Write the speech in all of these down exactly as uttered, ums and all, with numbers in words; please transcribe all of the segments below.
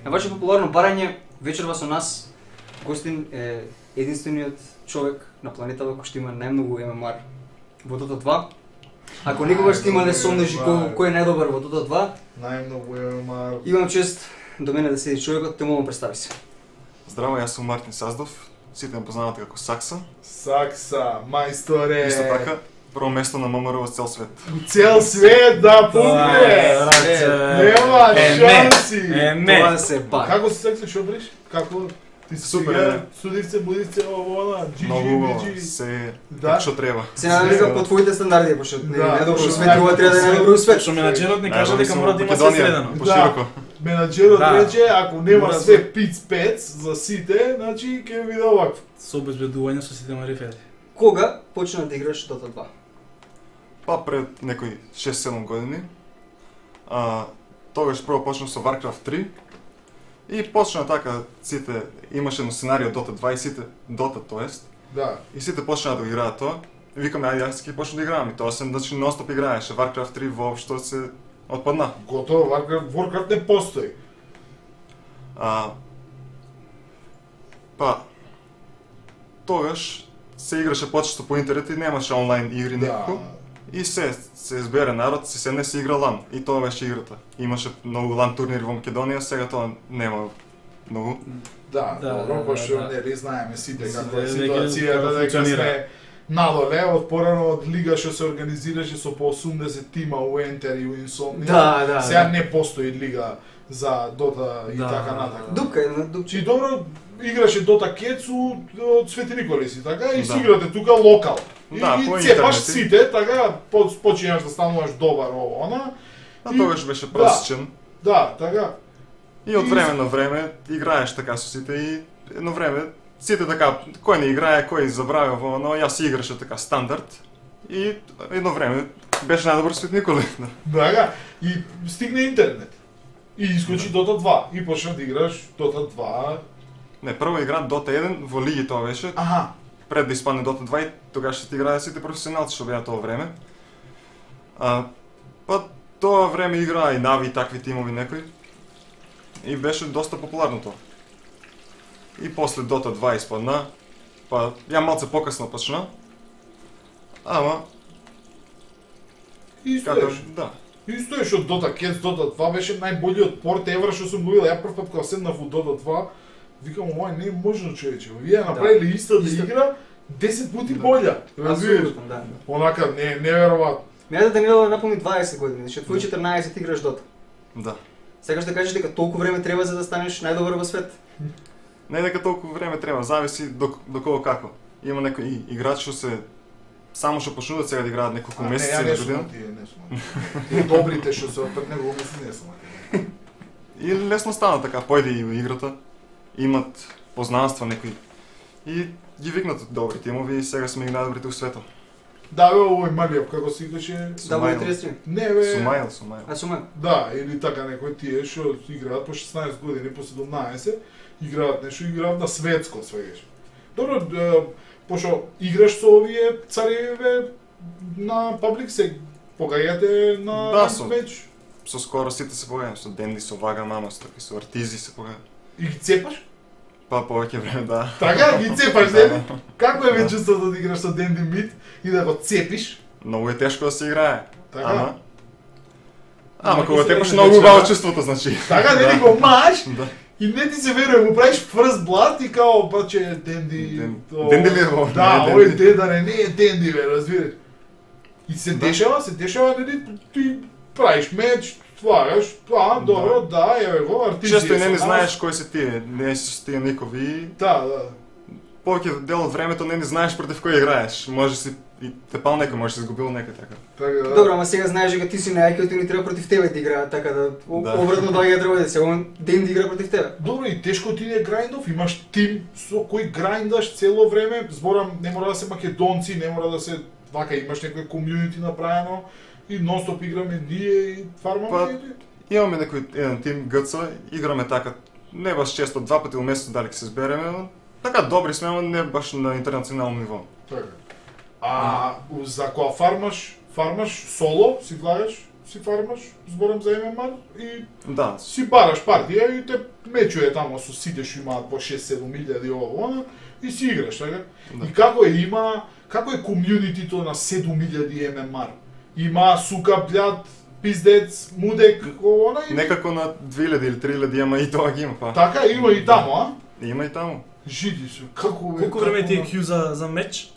На ваше популарно барање, вечерва со нас гостин е единствениот човек на планетава кој што има најмногу М М Р во Dota два. Ако никогаш сте имале сондажи кој, кој е најдобар во Dota два, најмногу М М Р. Имам чест до мене да седи човекот, те молам представи се. Здраво, јас сум Мартин Саздов, сите ме познавате како Сакса. Сакса, мајсторе. Исто така, прво место на М М Р во цел свет. Цел свет, да, пуне! Нема шанси! Тоа се пак. Како се Сакса, што бриш? Како? Ти си супер, судивце, будивце, ово, она, джи Многу джи, се да? што треба. Се надам дека по твоите стандарди, пошто не Да, е добро пошто свет, ова треба да е најдобро свет. Што менаџерот ни кажа дека мора да има све средено. Пошироко. Менаџерот Да. рече, ако нема Мора све да- пиц-пец за сите, значи ќе биде овакво. Со обезбедување со сите марифети. Кога почна да играш Dota два? Па пред некои шест-седум години, а, тогаш прво почнав со Warcraft три и почна така сите, имаше едно сценарио Dota два и сите, Dota тоест, Да. и сите почнаа да го играат тоа. И викаме, ајде јас ќе почнам да играам и тоа се, значи нон-стоп играеше, Warcraft три воопшто се отпадна. Готово, Warcraft, Warcraft не постои. А, па, тогаш се играше почесто по интернет и немаше онлайн игри некако. И се, се избере народ, се седне се игра лан. И тоа беше играта. Имаше многу лан турнири во Македонија, сега тоа нема многу. Да, Да, добро, да, пошто да, да. нели знаеме сите Сите каква е дека- ситуацијата, како дека функционира. сме надоле, од порано од лига што се организираше со по осумдесет тима у Enter и у Insomnia. Да, да, Сега да. не постои лига за Dota и Да, така да, натака. да. Дупка, една дупче. Чи добро играше Dota Кетсу од Свети Николи си, така и Да. си играте тука локал. И, Да, и по цепаш интернет. сите, така по- починаш да стануваш добар ово она. А И- тогаш беше просечен. Да, така. И од И- време на време играеш така со сите и едно време сите така, кој не играе, кој забравя во оно, јас си играше така стандард. И едно време беше најдобар Свет Николи. Така, и стигне интернет. И искочи Dota два. И почна да играш Dota два. Не, прво игра Dota еден во лиги тоа беше, Аха. пред да испадне Dota два и тогаш се играа сите професионалци што беа тоа време. А, па тоа време играа и Нави и такви тимови некои. И беше доста популарно тоа. И после Dota два испадна, па ја малце покасно почна. Ама, И како, стоеш. да. Исто е што Dota Cats, Dota два беше најболиот порт евра што сум го видел. Ја прв пат кога седнав во Dota два, викам, ова не е можно, човече. Вие направиле истата Исто. игра десет пати Да. болја. Разбираш? Апсолутно, да. Онака не неверојатно. Мене да Данилова напомни дваесет години, значи твој четрнаесет играш Dota. Да. Сега ще кажеш дека толку време треба за да станеш најдобар во свет. Не дека толку време треба, зависи до, до кого како. Има некои играчи што се само што почнуваат сега да играат неколку А, месеци не, ја или не сум година. на тие, не сум. на тие. Тие добрите што се отпред него мисли не сум. на тие. И лесно стана така, појде и во играта, имат познанства некои. И ги викнат добри тимови и сега сме ги најдобрите у светот. Да, бе, овој малијав, како се викаше? Да, во тридесет три. Не, бе. Сумајл, Сумајл. А сума. Да, или така некои тие што играат по шеснаесет години, по седумнаесет, играат нешто, играат на светско свегаш. Добро, е, пошто играш со овие цареве на паблик се погаѓате на Да, со- меч Со скоро сите се погаѓам, со Денди, со Вага Мама, со таки со Артизи се погаѓам. и ги цепаш? Па повеќе време, да. Така, ги цепаш, Да, нели? Како е ве чувството да играш со Денди Мид и да го цепиш? Многу е тешко да се играе. Така. Ама Ама Ама кога се тепаш веќе многу вече, убаво да. чувството, значи. Така, нели го маш Да. и не ти се верува, му правиш first blood и као, па че Денди... Ден- о, Денди ли е ово? Да, Не е овој Денди. Дендаре не е Денди, бе, разбираш. И се Да. дешава, се дешава, нели, ти правиш меч, слагаш, а, добро, да, еве го, артизи. Често и не со не нас. знаеш кои се тие, не си с тие никови. Да, да. Повеќе дел од времето не не знаеш против кој играеш. Може си и те пал некој, може си изгубил некој така. Така да. Добро, ама сега знаеш дека ти си најајкиот и ни треба против тебе да играат, така да Да. обратно доаѓа треба да се он ден да игра против тебе. Добро, и тешко ти не е грајндов, имаш тим со кој грајндаш цело време, зборам, не мора да се македонци, не мора да се вака, имаш некој комјунити направено и нонстоп играме ние и фармаме Па, и Имаме некој еден тим ГЦ, играме така, не баш често, два пати во месец дали ќе се збереме, но така добри сме, ама не баш на интернационално ниво. така. А за кога фармаш, фармаш соло, си влагаш си фармаш, зборам за Ем Ем Ар, и Да, си бараш партија и те мечуе тамо со сите што имаат по шест-седум илјади ово, она, и си играш, така? Да. И како е има, како е комјунитито на седум илјади Ем Ем Ар? Има сука, блјад, пиздец, мудек, она и... некако на две илјади или три илјади, ама и тоа ги има, па. Така, има и тамо, а? Има и таму. Жиди се, како бе... Колку време ти е кју за за меч?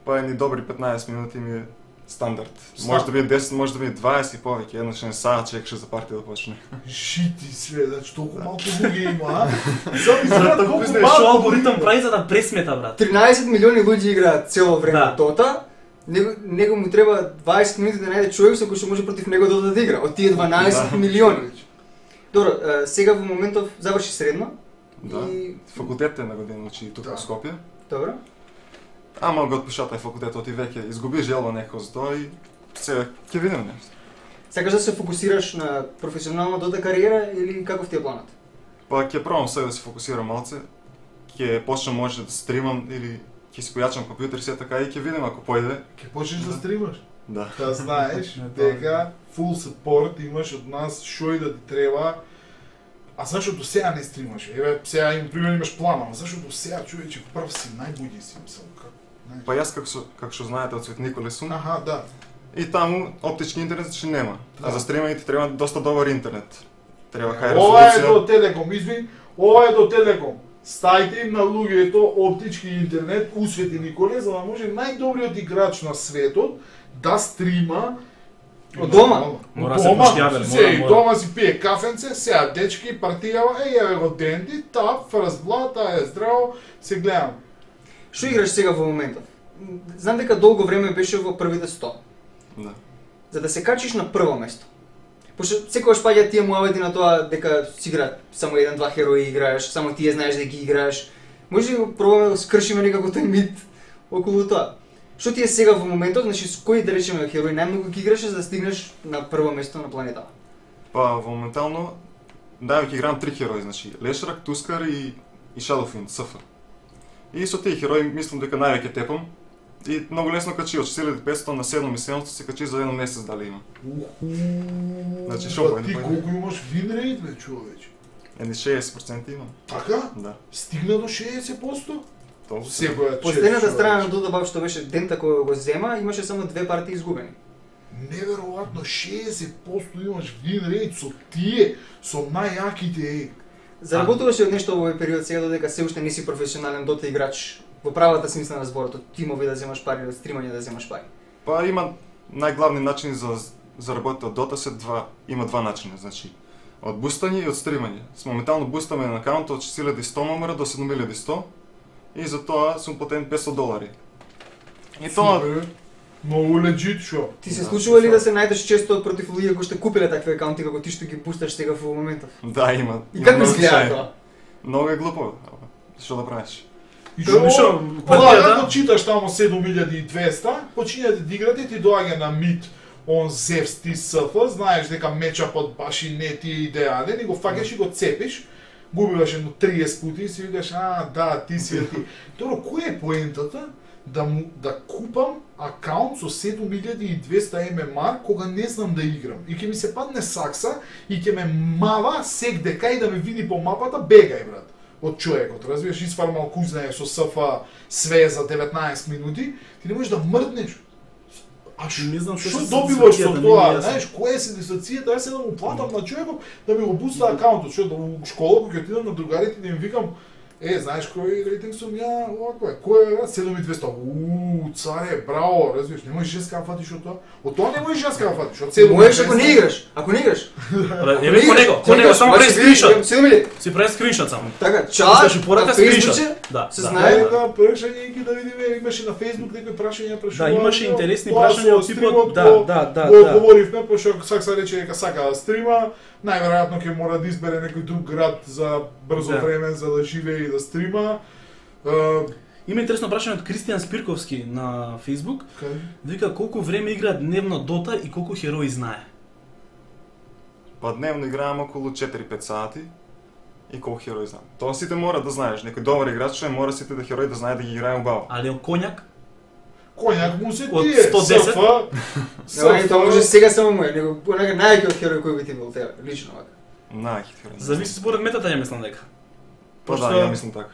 Па едни добри петнаесет минути ми е стандард. Ста- Може да биде десет, може да биде дваесет и повеќе, еднаш не саат чекаше за партија да почне. Жити све, значи толку малку луѓе има, а? Само изгледа колку Што малку алгоритам луѓе прави за да пресмета, брат? тринаесет милиони луѓе играат цело време Да. Дота. Него, него му треба дваесет минути да најде човек со кој што може против него Дота да игра. Од тие дванаесет Да. милиони. Добро, е, сега во моментов заврши средно. Да. И Факултетот е на година учи тука Да. во Скопје. добро. Ама го отпишата факултетот и веќе изгуби желба некој за тоа и сега ќе видиме нешто. Сакаш да се фокусираш на професионална Дота кариера или каков ти е планот? Па ќе пробам сега да се фокусирам малце. Ќе почнам може да стримам или ќе си појачам компјутер се така и ќе видим ако појде. Ќе почнеш да стримаш. Да. Да знаеш Не, тоа е. дека full support имаш од нас што и да ти треба. А зашто до сега не стримаш? Еве, сега им пример имаш план, ама зашто до сега човече прв си, најбуѓи си, мислам, како, знаеш. Па јас како што како што знаете од Цвет Николе сум. Аха, да. И таму оптички интернет што нема. Да. А за стримање ти треба доста добар интернет. Треба хај Ова е резолуција. до Телеком, извин, ова е до Телеком. Стајте им на луѓето оптички интернет у Свети Николе, за да може најдобриот играч на светот да стрима Од дома? Мора Од се дома, поштјавер, се, мора, и мора. дома си пие кафенце, сега дечки, партијава, е, еве го Денди, тап, фрст блад, таа е здраво, се гледам. Што играш сега во моментов? Знам дека долго време беше во првите сто. Да. За да се качиш на прво место. Пошто секогаш паѓа тие муавети на тоа дека си играат само еден-два херои играеш, само тие знаеш да ги играеш. Може да го пробаме да скршиме некако тој мит околу тоа. Што ти е сега во моментот, значи с кој да речеме херои најмногу ги играш за да стигнеш на прво место на планетата? Па во моментално да ќе играм три херои, значи Лешрак, Тускар и и Shadowfiend, СФ. И со тие херои мислам дека највеќе тепам. И многу лесно качи од четири илјади и петстотини на седум илјади и седумстотини се качи за еден месец дали има. Значи, шо Па појде, ти појде? колку имаш вин рейт, бе, човече? Едни шеесет проценти имам. Така? Да. Стигна до шеесет проценти? Толку се. Секоја Последната страна на Дота Баб што беше дента кој го зема, имаше само две партии изгубени. Неверојатно, шеесет проценти имаш вин рейт со тие, со најјаките, е. Заработуваш ли од нешто во овој период сега додека се уште не си професионален Дота играч во правата смисла на зборот, од тимови да земаш пари, од стримање да земаш пари? Па има најглавни начини за заработите од Дота се два, има два начина, значи од бустање и од стримање. С моментално бустаме на акаунт од четири илјади и сто номера до седум илјади и сто и за тоа сум платен петстотини долари. И тоа Супер, многу легит, шо? Ти се Да, случува ли шо? да се најдеш често против луѓе кои што купиле такви акаунти како ти што ги бусташ сега во моментов? да има. И има како многу изгледа случаи. тоа? Многу е глупо. ама, Што да правиш? И Што, што, што, Ова, партијата? како читаш тамо седум илјади и двесте, почињате да играте и ти доаѓа на мид он Зевс ти СФ, знаеш дека мечапот баш и не ти е идеален и го фаќаш и го цепиш, губиваш едно триесет пути и си викаш, а, да, ти си е ти. Добро, која е поентата да му да купам акаунт со седум илјади и двесте Ем Ем Ар кога не знам да играм и ќе ми се падне сакса и ќе ме мава сек дека и да ме види по мапата, бегај брат од човекот, разбираш, изфармал кој знае со СФ све за деветнаесет минути, ти не можеш да мрднеш. А ш, Не знам што што се добиваш со сатисфакцијата, тоа, не ми е јасно. знаеш, која е сатисфакцијата, јас седам му платам на човекот да ми го буста акаунтот, што да у школа кога ќе отидам на другарите да им викам, е, знаеш кој рейтинг сум ја, овако е, кој е, седум и двесте, уу, царе, браво, разбираш, не можеш јас да фатиш од тоа, од тоа не можеш јас да фатиш, од седум и Можеш ако не двесте. играш, ако не играш. Еве по него, по него само прави скриншот. Седум илјади. Си прави скриншот само. Така, чат, Искаш упорака на скриншот. Фейсбук, Да, се да. знае. Ајде да прашање ги да видиме, имаше на Facebook некои прашања, прашувања. Да, имаше интересни тоа прашања со од типот, стримот да, го- да, да, го да. одговоривме, пошто Сакса рече дека сака да стрима, најверојатно ќе мора да избере некој друг град за брзо Да. време за да живее и да стрима. Е, Има интересно прашање од Кристијан Спирковски на Facebook. кај? Вика колку време игра дневно Дота и колку херои знае. Па дневно играам околу четири-пет сати и колку херои знам. Тоа сите мора да знаеш, некој добар играч што е, мора сите да херои да знае да ги играе убаво. Али он коњак, Коњак му се Од тие, сто десет? СФ, Не, тоа може сега само му е, него онака најаќиот херој кој би ти бил тебе, лично вака. Најхит херој. Зависи според метата, ја мислам дека. Па да, Пошто ја мислам така.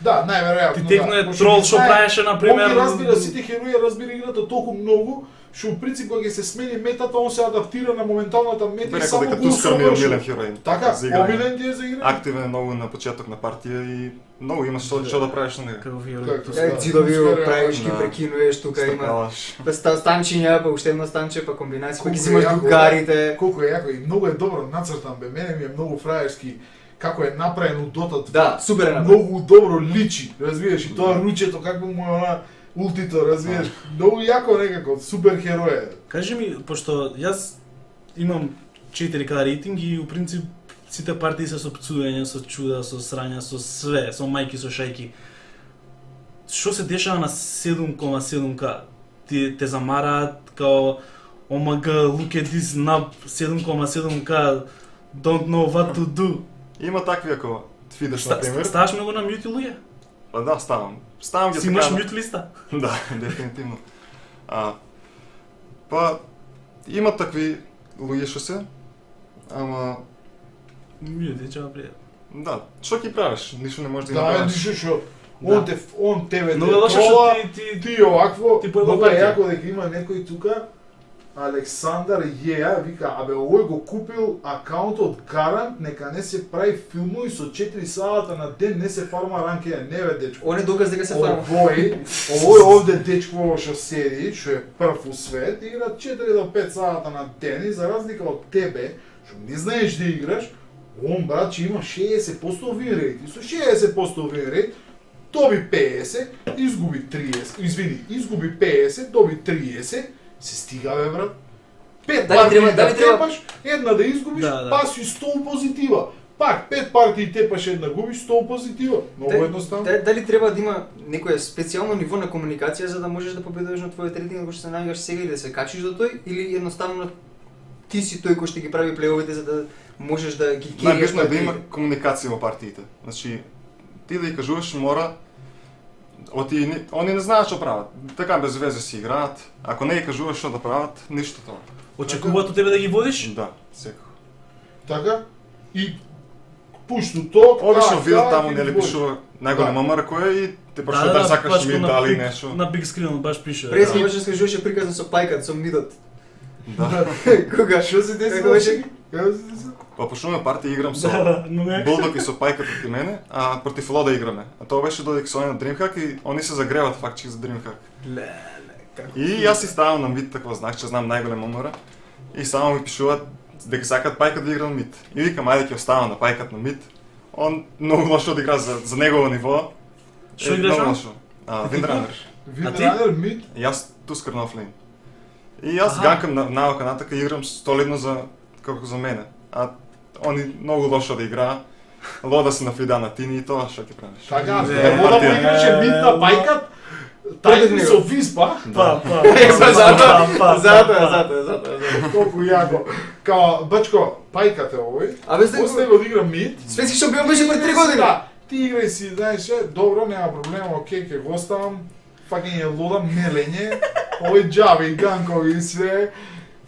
Да, најверојатно. Ти текно е Пошто трол ги што знае, правеше на пример. Он ги разбира сите херои, разбира играта толку многу, што у принцип кога ќе се смени метата, он се адаптира на моменталната мета Би и рекол само дека го Тускар ми е усовршува. омилен херој. Така, за играње. омилен ти е за играње. Активен е многу на почеток на партија и многу имаш што што да правиш на него. Како херој. Како? Тускар. Е, Да, дзидови Тускар е- правиш, ги Да. прекинуваш, тука има Стакалаш. па ста- станчиња, па уште едно станче, па комбинација, па Колку ги е взимаш јако, другарите. Колку е јако и многу е добро нацртан бе. Мене ми е многу фраерски како е направен у Dota два. Да, супер е направен. Многу добро личи, разбираш, и тоа ручето како му е она ултито, разбираш. Многу јако некако, супер херој е. Кажи ми, пошто јас имам четири К рейтинг и у принцип сите партии се со пцување, со чуда, со срања, со све, со мајки, со шајки. Што се дешава на седум кома седум К? Ти те замараат као омг look at this nub седум кома седум К don't know what to do. Има такви ако видиш Ста, на пример. ставаш ме го на мјут или? Па да, ставам. Ставам ги Си имаш така. мјут листа? Да, дефинитивно. А, па, има такви луѓе што се, ама, Мјут е чава пријат. да, што ќе правиш? Ништо не можеш да ги Да, направиш. ништо што Да. он те он тебе Но те е лошо трола, што ти ти ти овакво, Ти појава много е партија. јако дека има некој тука Александар Јеја вика, абе овој го купил акаунт од Гарант, нека не се прави филмови со четири сата на ден, не се фарма ранкеја, не бе дечко. Он е доказ дека се фарма. Овој, овој овде дечко што седи, што е прв у свет, игра четири до пет сата на ден и за разлика од тебе, што не знаеш да играш, он брат че има шеесет проценти win rate. И со шеесет проценти win rate доби петдесет, изгуби триесет, извини, изгуби петдесет, доби триесет, се стига бе брат. Пет Дали партии треба- да дали треба- тепаш, една да изгубиш, Да, да. па си сто позитива. Пак пет партии тепаш, една губиш, сто позитива. Многу Дали- едноставно. да- Дали треба да има некое специјално ниво на комуникација за да можеш да победуваш на твојот рейтинг кој што се наоѓаш сега и да се качиш до тој, или едноставно ти си тој кој што ги прави плейовите за да можеш да ги кериш Најбитно е да има комуникација во партиите. Значи, ти да ја кажуваш мора Оти, ни- они не знаат што прават. Така без везе си играат. Ако не ја кажуваш што да прават, ништо тоа. очекуваат од тебе да ги водиш? Да, секако. Така? И пушту ток, Обично так, видат так, таму и нели води. пишува најголем Да. мамар кој е и те прашува дали сакаш баш ми на дали биг- нешто. На биг скринот баш пише. Прес Да. можеш да скажуваше приказно со пајкат, со мидот. Да. Кога? Што се деси? Како беше? Како се деси? Па почнуваме партија играм со Да, да, но не. Булдог и со пајката ти мене, а против Лода играме. А тоа беше додека со на Dreamhack и они се загреват фактчи за Dreamhack. Леле, како. И јас си ставам на мид такво знак, че знам најголем мамара. И само ми пишуваат дека сакат пајкат да игра на мид. И викам ајде ќе оставам на пајкат на мид. Он многу лошо да игра за, за негово ниво. Што Е, играш многу он? лошо. А, Windrunner. Винранер мид. Јас Тускар на офлейн. И јас Аха. ганкам на навака натака и играм солидно за како за мене. А они многу лошо да играа. Лода се нафида на тини и тоа што ќе правиш. Така, Не, не вода му партија. играше мид на пајкат. Против Тајни него. со виспа. Па, па. Е, па затоа, па, па, затоа, па. затоа, затоа, затоа. Колку јако. Као, бачко, пајкат е овој. Абе, сте- После него да игра мид. Светски шампион беше пред три години. Да, ти играј си, знаеш, е, добро, нема проблем, окей, ќе го оставам. Факење лода, мелење, овој џави, ганкови и све.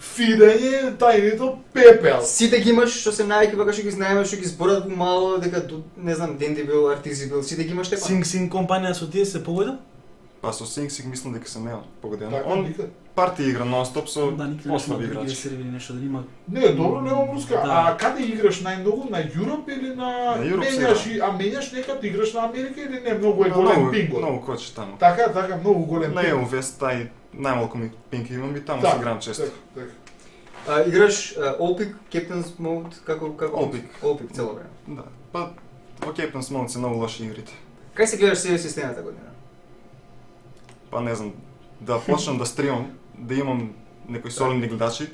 Фидање, тајнито, пепел. Сите ги имаш што се најаки вака што ги знаеме, што ги зборат помало, дека ду- не знам, Денди бил, Артизи бил, сите ги имаш тепа. Синг Синг компанија со тие се погодил? Па со Синг си мислам дека се неа погодено. Така, Он никад. партија игра нон-стоп со Да, никаде не ослаби сме да играчи. сервери нешто да има. Не, добро, нема муска. Да. А каде играш најмногу? На Европ или на... На Европ се менјаш, игра. и- а менјаш некад играш на Америка или не? Многу е Има голем многу- пингот. Многу кочи таму. Така, така, многу голем На пингот. Еувест тај најмалку ми пинки имам и таму Да, се играм често. така, така. А, играш Олпик, Captain's Mode, како како All-Pick. Олпик цело време. Да. Па во Captain's Mode се многу лоши игрите. Кај се гледаш сега системата година? Па не знам, да почнам да стримам, да имам некои солидни гледачи.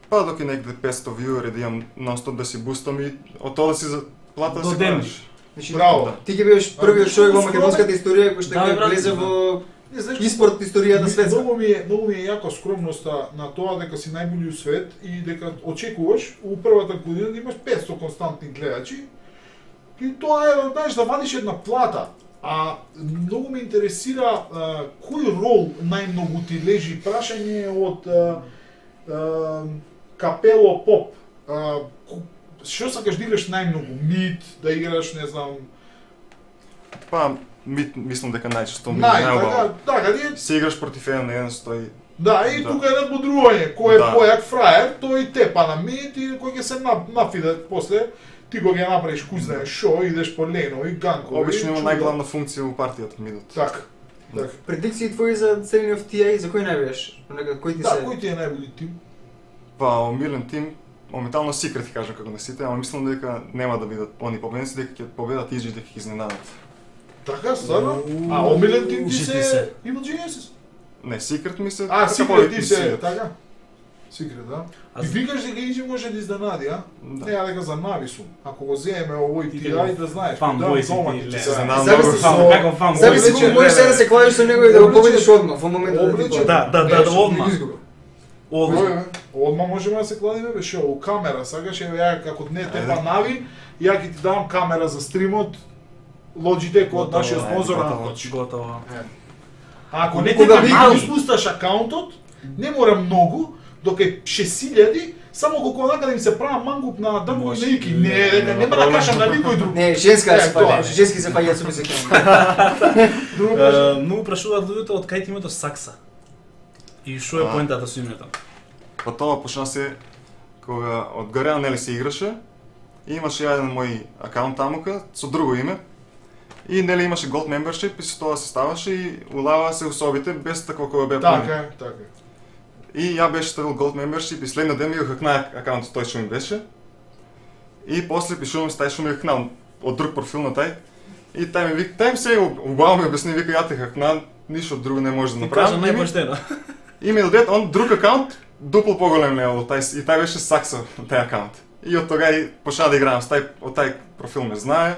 Па доки некаде петсто вјуери да имам нон-стоп да си бустам и од тоа да си за плата да До си ден. правиш. Значи, Браво. Да. ти ќе бидеш првиот А, човек во скоро- македонската историја кој што Да, ќе бе, брат, влезе да. во Не знаеш испорт историјата Ми- светска. Многу ми е, многу ми е јака скромноста на тоа дека си најбољи у свет и дека очекуваш у првата година да имаш петсто константни гледачи. И тоа е, знаеш, да вадиш една плата. А многу ме интересира а, кој рол најмногу ти лежи прашање од а, а, Капело Поп. А, што сакаш да играш најмногу? Мид, да играш, не знам... Па, ми, мислам дека најчесто ми Нај, најубаво. така, така, ние... Се играш против еден на еден, стои. Да, и Да. тука е надбодрување, кој е Да. појак фраер, тој тепа на мид и кој ќе се нап- нафиде после, ти го ќе направиш кој знае шо, идеш по ленови, ганкови. Обично има чуда. најглавна функција во партијата мидот. Така, така. Предикции твои за целиот Ти Ей, за кој најбеш? Нека кој ти Да, се... кој ти е најболи тим? Па, омилен тим, моментално Secret, кажам како на сите, ама мислам дека нема да бидат они победници, дека ќе победат и дека ќе изненадат. Така, стварно? Уу, А омилен тим ти Джи Ти се се. Evil Geniuses? Не, Secret ми се... А, така Secret повеќе ти се, свиѓат. така? Secret, да? А И з- викаш дека Иджи може да изненади, а? Да. Не, ја дека за Нави сум. Ако го земеме овој Ти ти, како ајде да знаеш, фанбой си дома ти, ти ле. се Се знам. знам Зависи многу. со- Фан, како фан, Зависи Облечен, колку можеш не, сега да не. се кладиш со него и да го Облечен. победиш одма во моментот да ти Облечен. падне. Да, да, да, Еш, да, одма. Одма. Кој е? Одма можеме да се кладиме, бе, шо, у камера, сакаш, еве, ја, како не те Ајде. па Нави, ја ќе ти дам камера за стримот, Logitech од Готово, нашиот ајде, спонзор готово. Анкоч. Готово. А ако не те Кога па ви- Нави спусташ акаунтот, не мора многу, дока е шест илјади, само колку онака да им се права мангуп на дрво и Може. на ики. Не, Не, дека нема нема да проблем. кажам на никој друг. Не, женска Е, се тоа паѓа, е. женски се паѓа со бисеки. Друго Е, кажам. Многу прашуваат луѓето од кај ти името Сакса. И што е А. поентата со името? Па тоа почна се кога од Гареа нели се играше и имаше еден мој акаунт тамука со друго име. И нели имаше Gold Membership и со тоа се ставаше и улава се особите без такво кога беа Така плани. е, така е. И ја беше ставил Gold Membership и следниот ден ми го хакна акаунтот тој што ми беше. И после пишувам с тај што ми го хакнал од друг профил на тај. И тај ми вика, тај ми се убаво ми обясни, вика ја те хакна, ништо друго не може да Ти кажа направам. И ми- најпоштено. И ми даде он друг акаунт, дупло поголем лево од тај, и тај беше Сакса тај акаунт. И од тога и почна да играам с тај, од тај профил ме знае.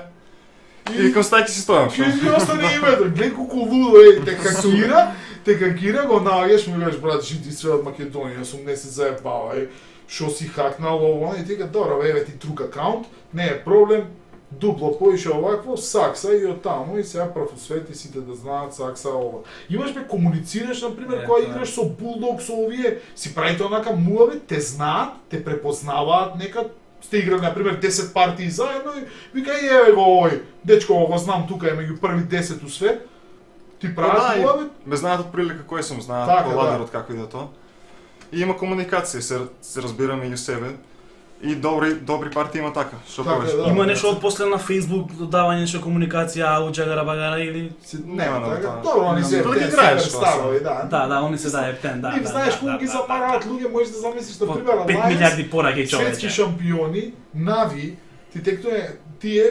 И викам с тај ќе си стојам. Ке ми остане името, глед колку лудо е, те хакира, те хакира, го наоѓаш, ми кажеш, брат, жити све од Македонија, сум не се заебавај, шо си хакнал ово, и ти ка, добро, еве ти друг акаунт, не е проблем, дупло поише овакво, Сакса и од таму, и сега профосвети сите да знаат Сакса ова. Имаш бе, комуницираш, например, Е, кога тоа е. играш со Булдог, со овие, си правите онака муаве, те знаат, те препознаваат, нека сте играли, например, десет партии заедно и вика, и еве го овој, дечко, го знам тука, е меѓу први десет у свет, ти прават да, и муаве, ме знаат од прилика кој сум, знаат Така, по да. ладерот како иде тоа. И има комуникација, се, се разбираме и у себе. И добри добри партии има така, што Така, повеќе. да. Има нешто од после на Facebook додавање нешто комуникација, ау джагара багара или Си- Нема на така, тоа. добро, они се Додека те играеш, суперстарови, да. да, да, они се дае птен, да. Ти да, знаеш да, колку да, ги да, запараат луѓе, можеш да замислиш, на По пример, пет Alliance, милиарди пораки светски човече. шампиони, Нави, ти текто тие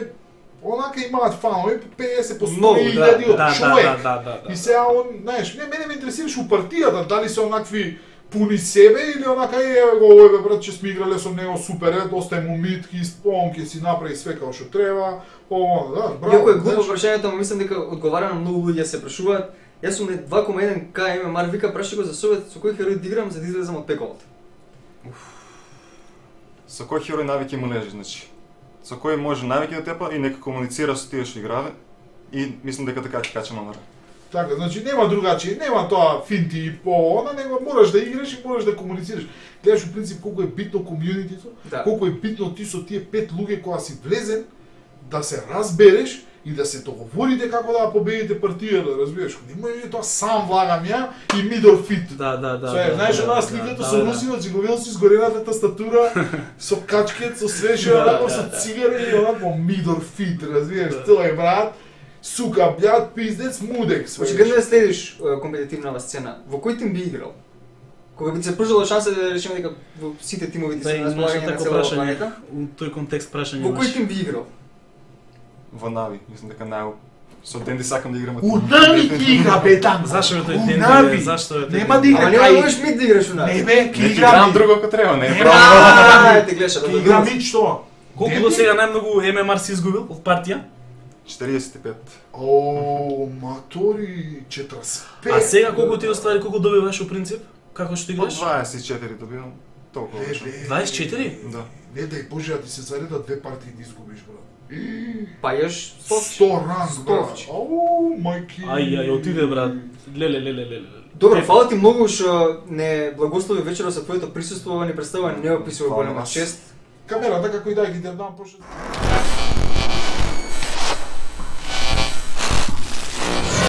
онака имаат фанови по педесет, по Многу, сто да, илјади Да, од да, човек. да, да, да, да. И сега он, знаеш, не, мене ме интересираш у партијата, дали се онакви пуни себе или онака е, еве го овој бе брат, че сме играле со него супер, е, доста му митки, он ќе си направи све како што треба, ово, да, браво. Иако е глупо знаеш. прашањето, ама мислам дека одговара на многу луѓе се прашуваат. Јас сум не два кoma еден ка ем ем ар, вика праши го за совет со кој херој да играм за да излезам од пеколата. Со кој херој навики му лежи, значи. Со кој може навики да тепа и нека комуницира со тие што играве. И мислам дека така ќе кача номера. Така, значи нема другачи, нема тоа финти и по она, него мораш да играш и мораш да комуницираш. Гледаш у принцип колку е битно комјунитито, Да. колку е битно ти со тие пет луѓе кога си влезен, да се разбереш и да се договорите како да ја победите партијата, разбираш? Не може тоа сам влагам ја и middle fit. Да, да, да. Све, да, знаеш да, онаа да, сликата да, со да. Русинот, зиговил си сгорената тастатура, со качкет, со свеше, Да, онако да, со да. цигари и онако middle fit, разбираш? Да. Тој брат, сука, бљад, пиздец, мудек, све. Очигледно да следиш е, компетитивнава сцена. Во кој тим би играл? Кога би ти се пружила шанса да речеме дека во сите тимови ти Да, се и на имаше располагање на тако целава прашање, планета, у тој контекст прашање во кој имаше. тим би играл? Во Нави, мислам дека нај со Денди сакам да играм. У Нави ти игра бе таму. Зашто е тој У ден? Нави. Зашто е тој Нема ден? да игра Ама нема да кај. можеш мид да играш у нас. Не бе, ки Не игра играм ми. друго ако треба, не е Нема. проблем. Аа, те гледаш, Ки игра ми што? Колку Денди? до сега најмногу ем ем ар си изгубил од партија? четириесет и пет. О, матори, четиридесет и пет. А сега колку ти оствари, колку добиваш у принцип? Како што По играш? дваесет и четири добивам. Толкова беше. дваесет и четири? Да. Не дај Боже, да ти се заредат две партии да изгубиш, брат. Па јаш сто ранг, брат. Стовче. Ау, мајки. Ај, ај, отиде, брат. Леле, леле, леле. Добро, фала ти многу што не благослови вечерот со твоето присуство, ни представува неописува Фала голема вас. чест. Камерата како и да ги те дам пошто.